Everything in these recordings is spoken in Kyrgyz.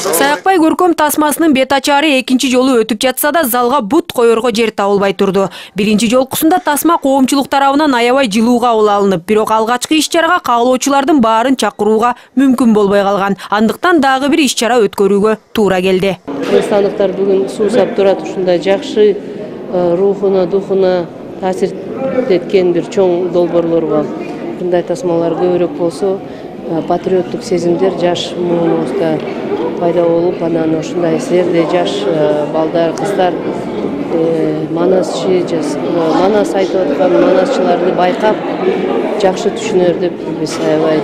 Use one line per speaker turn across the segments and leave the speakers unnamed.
Саякбай көркөм тасмасынын бет ачаары экинчи жолу өтүп жатса да залга бут коерго жер табылбай турду. Биринчи жолкусунда тасма коомчулук тарабынан аябай жылуу кабыл алынып, бирок алгачкы иш-чарага кагылуучулардын баарын чакырууга мүмкүн болбой калган. Андыктан дагы бир иш-чара өткөрүүгө туура келди.
Кыргызстандыктар бүгүн суу сап турат, ушундай жакшы рухуна, духуна таасир эткен бир чоң долбоорлорго мындай тасмалар көбүрөөк болсо, патриоттук сезимдер жаш муунубузда пайда болуп, анан ушундай силерде жаш балдар, кыздар манасчы, манас айтып аткан манасчыларды байкап жакшы түшүнөр деп биз аябай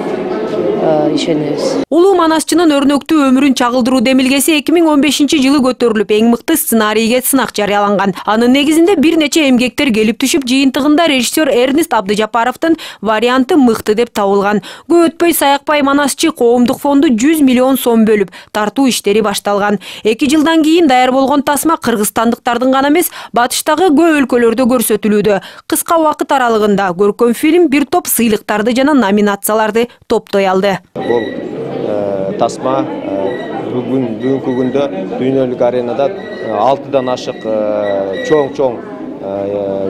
ишенебиз.
Улуу манасчынын өрнөктүү өмүрүн чагылдыруу демилгеси 2015-жылы көтөрүлүп, эң мыкты сценарийге сынак жарыяланган. Анын негизинде бир нече эмгектер келип түшүп, жыйынтыгында режиссер Эрнест Абдыжапаровдун варианты мыкты деп табылган. Көп өтпөй Саякбай манасчы коомдук фонду 100 миллион сом бөлүп, тартуу иштери башталган. 2 жылдан кийин даяр болгон тасма кыргызстандыктардын гана эмес, батыштагы көп өлкөлөрдө көрсөтүлүүдө. Кыска убакыт аралыгында көркөм фильм бир топ сыйлыктарды жана номинацияларды топтой алды.
Бул тасма бүгүнкү күндө дүйнөлүк аренада 6дан ашык чоң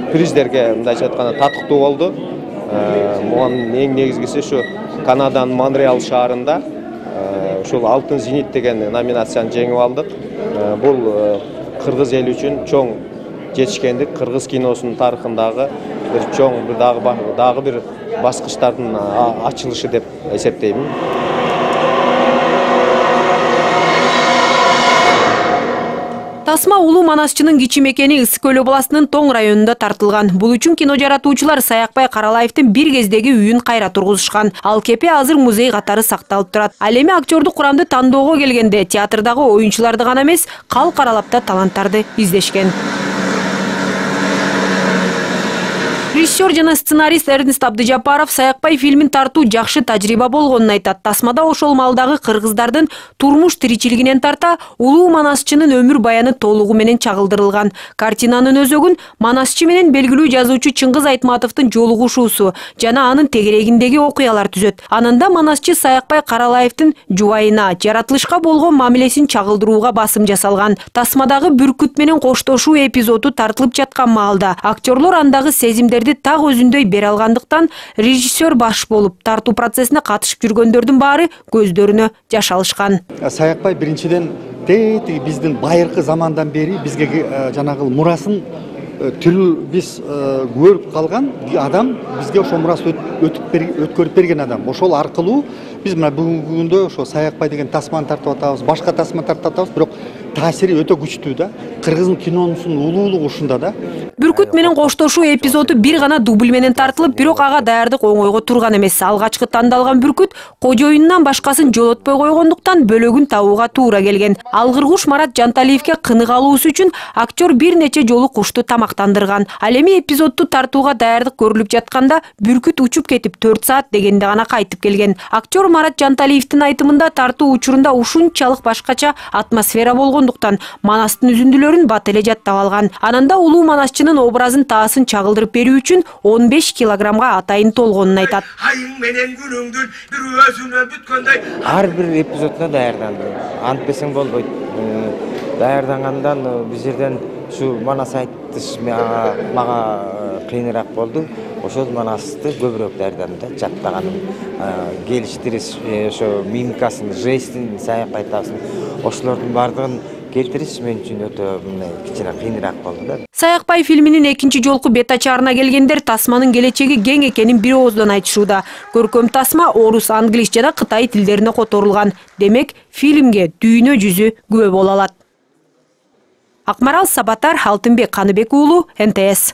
приздерге мындайча айтканда татыктуу болду. Муга эң негизгиси ушу Канаданын Монреал шаарында ушул Алтын зенит деген номинацияны жеңип алдык. Бул кыргыз эли үчүн чоң жетишкендик, кыргыз киносунун тарыхындагы бир чоң дагы бир баскычтардын ачылышы деп эсептеймин.
Тасма улуу манасчынын кичи мекени Ысык Көл областынын Тоң районунда тартылган. Бул үчүн кино жаратуучулар Саякбай Каралаевдин бир кездеги үйүн кайра тургузушкан. Ал кепе азыр музей катары сакталып турат. Ал эми актердук курамды тандоого келгенде театрдагы оюнчуларды гана эмес, калк аралап да таланттарды издешкен. Режиссер жана сценарист Эрнест Абдыжапаров Саякбай фильмин тартуу жакшы тажрыйба болгонун айтат. Тасмада ошол малдагы кыргыздардын турмуш тиричилигинен тарта улуу манасчынын өмүр баяны толугу менен чагылдырылган. Картинанын өзөгүн манасчы менен белгилүү жазуучу Чыңгыз Айтматовдун жолугушуусу жана анын тегерегиндеги окуялар түзөт. Анында манасчы Саякбай Каралаевдин жубайына, жаратылышка болгон мамилесин чагылдырууга басым жасалган. Тасмадагы бүркүт менен коштошуу эпизоду тартылып жаткан маалда актерлор андагы сезимдерди так өзүндөй бере алгандыктан режиссер баш болуп, тартуу процессине катышып жүргөндөрдүн баары көздөрүнө жаш алышкан.
Саякбай биринчиден биздин байыркы замандан бери бизге жанагы мурасын тилүү биз көрүп калган адам, бизге ошол мурасы өткөрүп берген адам. Ошол аркылуу биз мына бүгүнкү күндө ошо Саякбай деген тасманы тартып атабыз, башка тасма тартып атабыз, бирок таасири өтө күчтүү да. Кыргыздын кинонусунун улуулугу ушунда да.
Бүркүт менен коштошуу эпизоду бир гана дубль менен тартылып, бирок ага даярдык оңойго турган эмес. Алгачкы тандалган бүркүт кожоюнунан башкасын жолотпой койгондуктан бөлөгүн табууга туура келген. Алгыр куш Марат Жанталиевге кынык алуусу үчүн актер бир нече жолу кушту тамактандырган. Ал эми эпизодду тартууга даярдык көрүлүп жатканда бүркүт учуп кетип 4 саат дегенде гана кайтып келген. Актер Марат Жанталиевдин айтымында тартуу учурунда ушунчалык башкача атмосфера болгондуктан манастын үзүндүлөрүн бат эле жаттап алган. Ананда улуу манасчынын образын таасын чагылдырып берүү үчүн 15 килограммга атайын толгонун айтат.
Ар бир эпизодуна даярдандым. Антпесең болбойт. Даярдангандан биз жерден ушу манас айтыш мага кыйыныраак болду. Ошол манасты көбүрөөк даярдадым да, жаттаганым, келиштириш, ошо мимикасын, жестин, Саякбай айтасын, ошолордун бардыгын келтириш мен үчүн өтө кичине кыйыныраак болду да.
Саякбай фильминин экинчи жолку бет ачаарына келгендер тасманын келечеги кең экенин бир ооздон айтышууда. Көркөм тасма орус, англис жана кытай тилдерине которулган. Демек, фильмге дүйнө жүзү күбө боло алат. Акмарал Сабатар, Алтынбек Каныбек уулу, НТС.